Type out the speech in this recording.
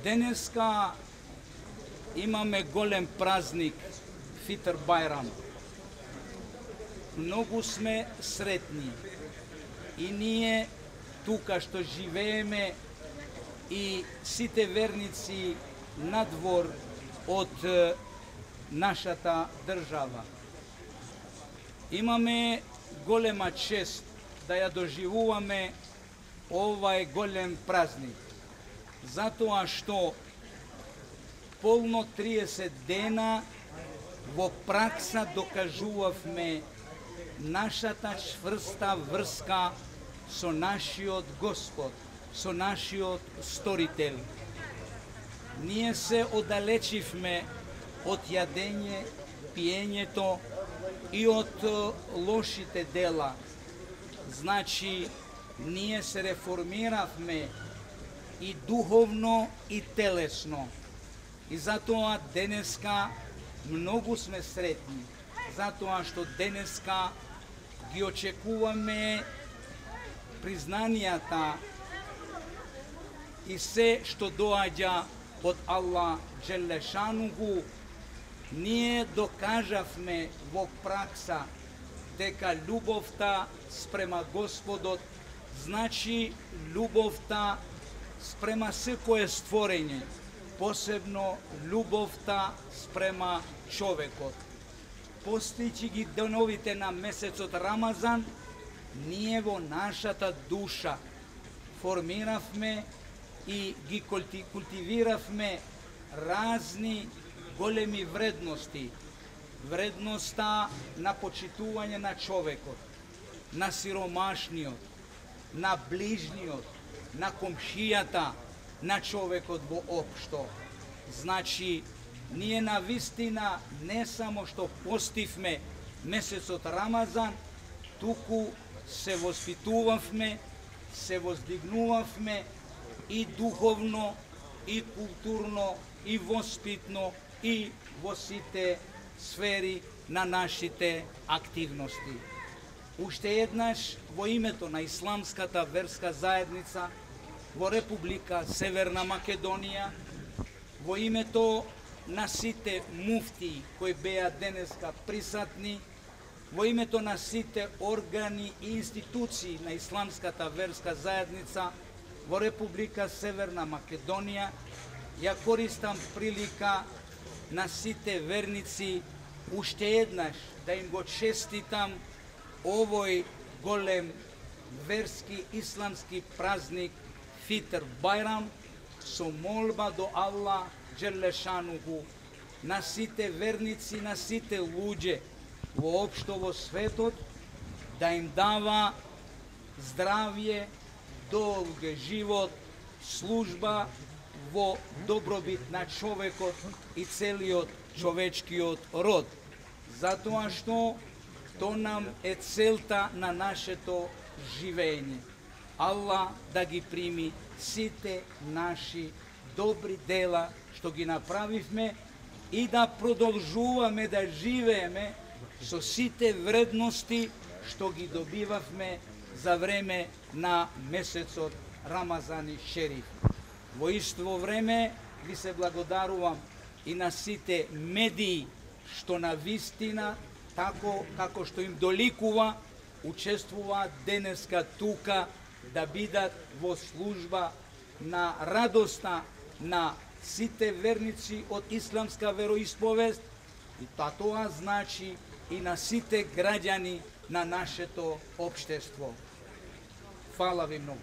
Денеска имаме голем празник, Фитр Бајрам. Многу сме сретни и ние тука што живееме и сите верници надвор од нашата држава. Имаме голема чест да ја доживуваме овај голем празник, затоа што полно 30 дена во пракса докажувавме нашата чврста врска со нашиот Господ, со нашиот Сторител. Ние се оддалечивме од јадење, пиењето и од лошите дела. Значи, ние се реформиравме и духовно и телесно. И затоа денеска многу сме сретни, затоа што денеска ги очекуваме признанијата и се што доаѓа од Аллах Джелешануху. Ние докажавме во пракса дека љубовта спрема Господот значи љубовта спрема секое створење, посебно љубовта спрема човекот. Постијќи ги деновите на месецот Рамазан, ние во нашата душа формиравме и ги култивиравме разни големи вредности. Вредноста на почитување на човекот, на сиромашниот, на ближниот, на комшијата, на човекот во општо. Значи, ние на вистина не само што постивме месецот Рамазан, туку се воспитувавме, се воздигнувавме и духовно, и културно, и воспитно, и во сите сфери на нашите активности. Уште еднаш во името на Исламската верска заедница во Република Северна Македонија, во името на сите муфти кои беа денеска присатни, во името на сите органи и институции на Исламската верска заедница во Република Северна Македонија, ја користам прилика на сите верници уште еднаш да им го честитам овој голем верски исламски празник Фитр Бајрам, со молба до Аллах Джелешануху на сите верници, на сите луѓе воопшто во светот, да им дава здравје, долг живот, служба во добробит на човекот и целиот човечкиот род. Затоа што то нам е целта на нашето живење. Аллах да ги прими сите наши добри дела што ги направивме и да продолжуваме да живееме со сите вредности што ги добивавме за време на месецот Рамазани Шериф. Во исто време ви се благодарувам и на сите медии што на вистина, тако како што им доликува, учествуваат денеска тука да бидат во служба на радоста на сите верници од исламска вероисповест и тоа значи и на сите граѓани на нашето општество. Фала ви многу.